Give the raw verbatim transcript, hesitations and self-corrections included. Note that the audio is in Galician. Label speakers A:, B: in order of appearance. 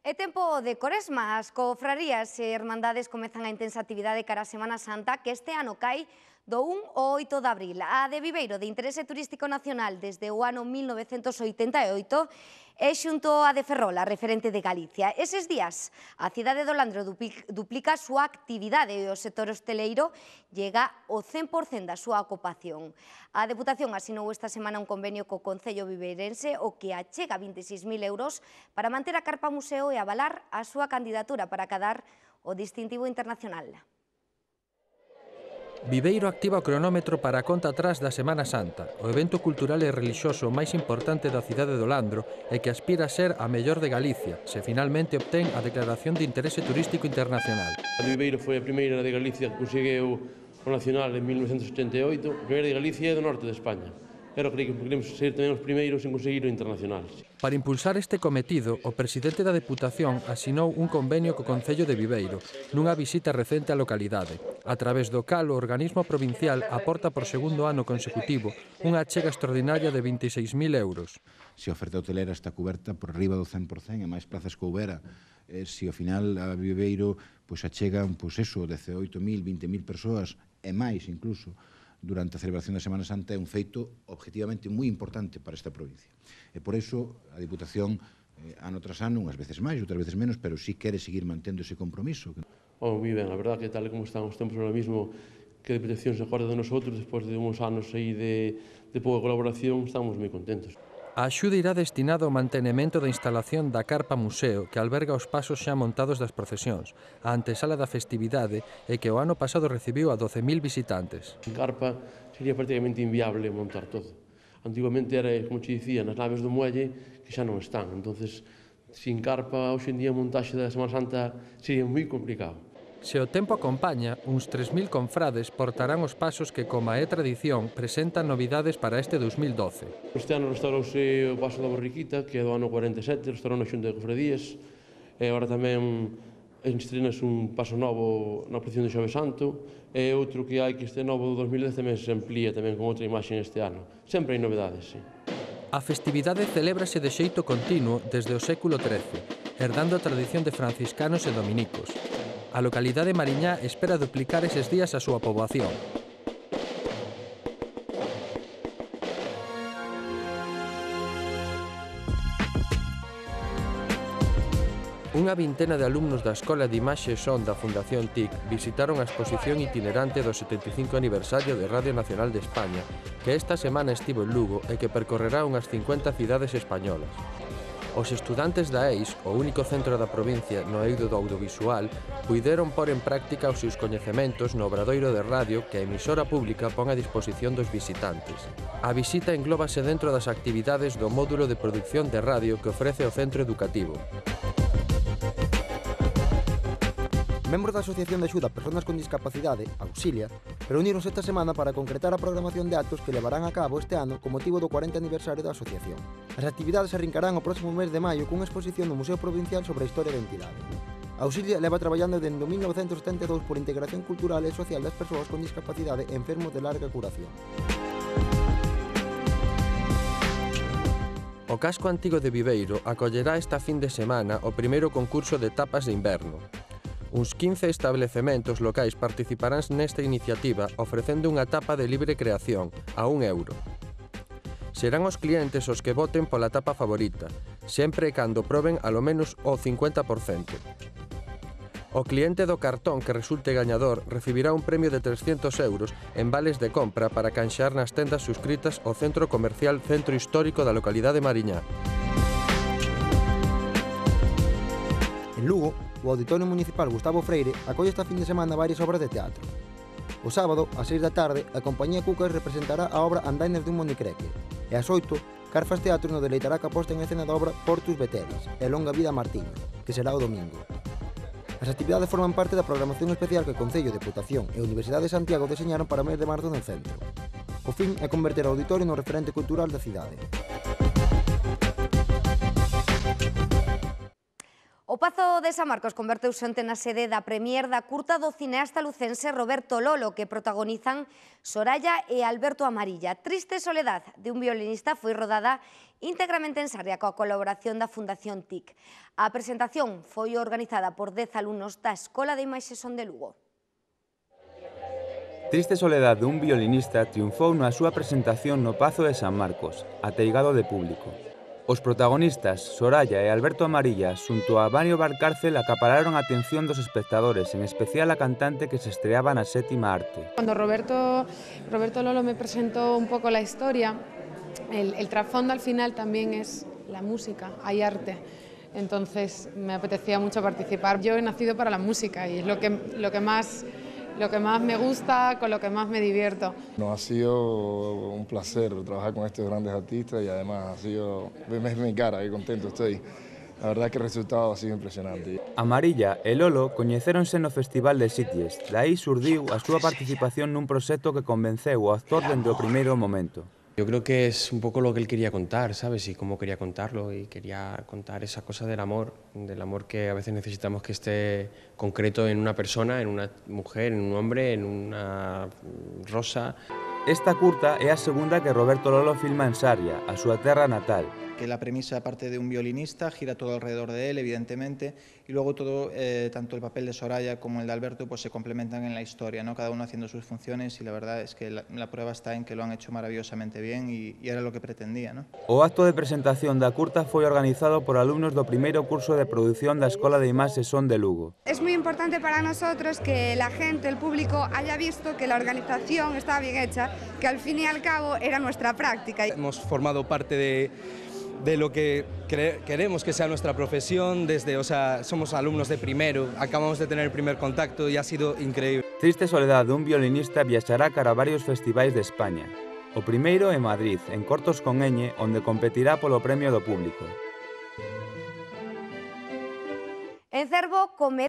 A: É tempo de Coresma, as cofrarías e hermandades comezan a intensa actividade cara a Semana Santa, que este ano cai do un ao oito de abril. A de Viveiro, de interese turístico nacional desde o ano mil novecentos oitenta e oito, é xunto a de Ferrol, a referente de Galicia. Eses días, a cidade do Landro duplica a súa actividade e o sector hosteleiro llega ao cen por cen da súa ocupación. A Deputación asinou esta semana un convenio co Concello Viveirense, o que achega vinte e seis mil euros para manter a carpa museo e avalar a súa candidatura para acadar o distintivo internacional.
B: Viveiro activa o cronómetro para a conta atrás da Semana Santa, o evento cultural e relixioso máis importante da cidade do Landro e que aspira a ser a mellor de Galicia, se finalmente obtén a declaración de interese turístico internacional.
C: A de Viveiro foi a primeira de Galicia que conseguiu o nacional en mil novecentos ochenta e oito, a primeira de Galicia é do norte de España. Pero creio que queremos ser tamén os primeiros en conseguir o internacional.
B: Para impulsar este cometido, o presidente da Deputación asinou un convenio co Concello de Viveiro nunha visita recente á localidade, a través do cal o organismo provincial aporta por segundo ano consecutivo unha achega extraordinaria de vinte e seis mil euros.
D: Se a oferta hotelera está coberta por riba do cen por cen e máis plazas que houbera, eh, se ao final a Viveiro pois, achegan pois, eso, dezaoito mil, vinte mil persoas e máis incluso, durante a celebración da Semana Santa é un feito objetivamente moi importante para esta provincia. E por iso a Diputación, eh, ano tras ano, unhas veces máis, outras veces menos, pero sí quere seguir mantendo ese compromiso.
C: Oh, moi ben, a verdad que tal como están os tempos ahora mismo, que a Diputación se acorda de nosotros, despois de uns anos aí de, de pouca colaboración, estamos moi contentos.
B: A axuda irá destinada ao mantenimento da instalación da carpa museo que alberga os pasos xa montados das procesións, a antesala da festividade e que o ano pasado recibiu a doce mil visitantes.
C: En carpa sería prácticamente inviable montar todo. Antiguamente era, como te dicía, nas naves do muelle que xa non están. Entonces, sin carpa, hoxe en día a montaxe da Semana Santa sería moi complicado.
B: Se o tempo acompaña, uns tres mil confrades portarán os pasos que, como é tradición, presentan novidades para este dos mil doce.
C: Este ano restaurouse o paso da Borriquita, que é do ano cuarenta e sete, restaurou na Xunta de Cofradías, e agora tamén estrenas un paso novo na procesión de Xoves Santo, e outro que hai que este novo do dos mil dez tamén se amplía tamén con outra imaxe este ano. Sempre hai novedades, sí.
B: A festividade celébrase de xeito continuo desde o século trece, herdando a tradición de franciscanos e dominicos. A localidade mariñá espera duplicar eses días a súa poboación. Unha vintena de alumnos da Escola de Imaxe e Son da Fundación T I C visitaron a exposición itinerante do setenta e cinco aniversario de Radio Nacional de España, que esta semana estivo en Lugo e que percorrerá unhas cincuenta cidades españolas. Os estudantes da E I S, o único centro da provincia no eido do audiovisual, puideron pôr en práctica os seus coñecementos no obradoiro de radio que a emisora pública pon a disposición dos visitantes. A visita englóbase dentro das actividades do módulo de produción de radio que ofrece o centro educativo.
E: Membros da Asociación de Axuda a Persoas con Discapacidade, Auxilia, reunironse esta semana para concretar a programación de actos que levarán a cabo este ano con motivo do cuarenta aniversario da asociación. As actividades arrincarán o próximo mes de maio cunha exposición no Museo Provincial sobre a historia da entidade. Auxilia leva traballando dende mil novecentos setenta e dous por integración cultural e social das persoas con discapacidade e enfermos de larga curación.
B: O casco antigo de Viveiro acollerá esta fin de semana o primeiro concurso de tapas de inverno. Uns quince establecementos locais participarán nesta iniciativa ofrecendo unha tapa de libre creación, a un euro. Serán os clientes os que voten pola tapa favorita, sempre e cando proben alo menos o cincuenta por cento. O cliente do cartón que resulte gañador recibirá un premio de trescentos euros en vales de compra para canxear nas tendas suscritas ao Centro Comercial Centro Histórico da localidade mariñá.
E: En Lugo, o Auditorio Municipal Gustavo Freire acolle esta fin de semana varias obras de teatro. O sábado, ás seis da tarde, a compañía Cucas representará a obra Andainas dun Monicreque e ás oito, Carfas Teatro nos deleitará ca posta en escena da obra Portus Veteris e Longa Vida a Martiño, que será o domingo. As actividades forman parte da programación especial que o Concello, Deputación e a Universidade de Santiago deseñaron para o mes de marzo no centro. O fin é converter o auditorio no referente cultural da cidade.
A: O O Pazo de San Marcos converteuse onte na sede da premier da curta do cineasta lucense Roberto Lolo, que protagonizan Soraya e Alberto Amarilla. Triste soledad de un violinista foi rodada íntegramente en Sarria coa colaboración da Fundación T I C. A presentación foi organizada por dez alumnos da Escola de Imaxe Son de Lugo.
F: Triste soledad de un violinista triunfou na súa presentación no Pazo de San Marcos, ateigado de público. Os protagonistas, Soraya e Alberto Amarilla, xunto a Mario Valcárcel, acapararon a atención dos espectadores, en especial a cantante que se estreaba na sétima arte.
G: Cuando Roberto, Roberto Lolo me presentó un poco la historia, el, el trasfondo al final también es la música, hay arte. Entonces me apetecía mucho participar. Yo he nacido para la música y es lo que, lo que más... lo que más me gusta, con lo que más me divierto.
H: No, ha sido un placer trabajar con estos grandes artistas y además ha sido, ves mi cara, qué contento estoy. La verdad que el resultado ha sido impresionante.
F: Amarilla e Lolo coñecéronse no Festival de Sitges, dai surdiu a súa participación nun proxecto que convenceu o actor dende o primeiro momento.
I: Yo creo que es un poco lo que él quería contar, ¿sabes? Y cómo quería contarlo, y quería contar esa cosa del amor, del amor que a veces necesitamos que esté concreto en una persona, en una mujer, en un hombre, en una rosa.
F: Esta curta é a segunda que Roberto Lolo filma en Sarria, a súa terra natal.
J: Que la premisa, aparte de un violinista, gira todo alrededor de él, evidentemente, y luego todo, eh, tanto el papel de Soraya como el de Alberto, pues se complementan en la historia, ¿no? Cada uno haciendo sus funciones, y la verdad es que la, la prueba está en que lo han hecho maravillosamente bien y, y era lo que pretendía, ¿no?
F: O acto de presentación da curta foi organizado por alumnos do primeiro curso de produción da Escola de Imaxe Son de Lugo.
K: Es muy importante para nosotros que la gente, el público, haya visto que la organización estaba bien hecha, que al fin y al cabo era nuestra práctica.
L: Hemos formado parte de de lo que queremos que sea nuestra profesión, desde, o sea, somos alumnos de primero, acabamos de tener el primer contacto y ha sido increíble.
F: Triste soledad dun violinista viaxará cara a varios festivais de España. O primeiro en Madrid, en Cortos con Ñ, onde competirá polo premio do público.
A: En Cervo, comer